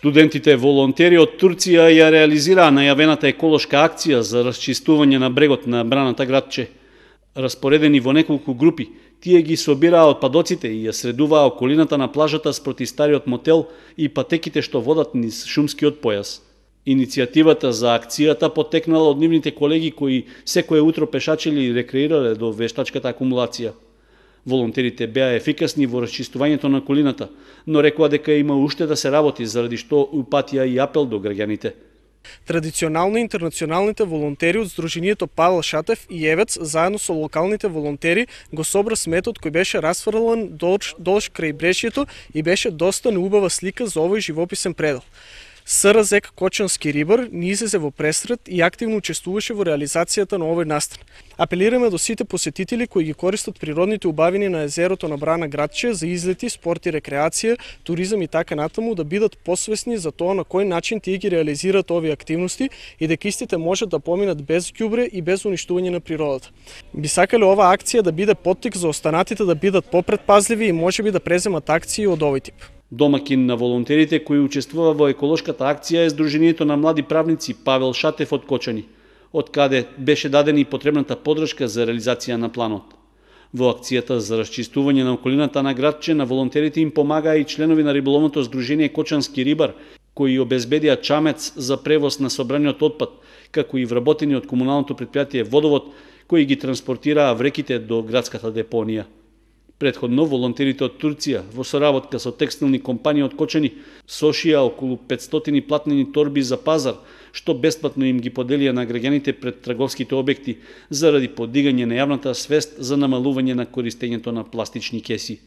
Студентите волонтери од Турција ја реализираа најавената еколошка акција за расчистување на брегот на браната Гратче. Распоредени во неколку групи, тие ги собираа отпадоците и ја средуваа околината на плажата спроти стариот мотел и патеките што водат низ шумскиот појас. Иницијативата за акцијата потекнала од нивните колеги кои секое утро пешачели и рекреирале до вештачката акумулација. Волонтерите беа ефикасни во расчистувањето на околината, но рекоа дека има уште да се работи, заради што упатија и апел до граѓаните. Традиционално интернационалните волонтери од Сдруженијето Павел Шатев и Евец заедно со локалните волонтери го собра сметот кој беше расфрлан долж крај брешјето и беше доста неубава слика за овој живописен предел. СРЗЕК Кочански рибар ни излезе во пресрет и активно учествуваше во реализацијата на овој настан. Апелираме до сите посетители кои ги користат природните убавини на езерото на Брана Гратче за излети, спорт и рекреација, туризам и така натаму да бидат посвесни за тоа на кој начин тие ги реализираат овие активности и дека истите можат да поминат без ѓубре и без уништување на природата. Би сакале оваа акција да биде поттик за останатите да бидат попретпазливи и можеби да преземат акции од овој тип. Домакин на волонтерите кои учествува во еколошката акција е Сдруженијето на млади правници Павел Шатев од Кочани, од каде беше дадена и потребната поддршка за реализација на планот. Во акцијата за расчистување на околината на Гратче на волонтерите им помагаа и членови на риболовното здружение Кочански рибар, кои обезбедија чамец за превоз на собраниот отпад, како и вработени од комуналното предпријатие Водовод, кои ги транспортираа вреките до градската депонија. Претходно, волонтерите од Турција, во соработка со текстилни компании од Кочани, сошија околу 500 платнени торби за пазар, што бесплатно им ги поделија на граѓаните пред трговските објекти, заради подигање на јавната свест за намалување на користењето на пластични кеси.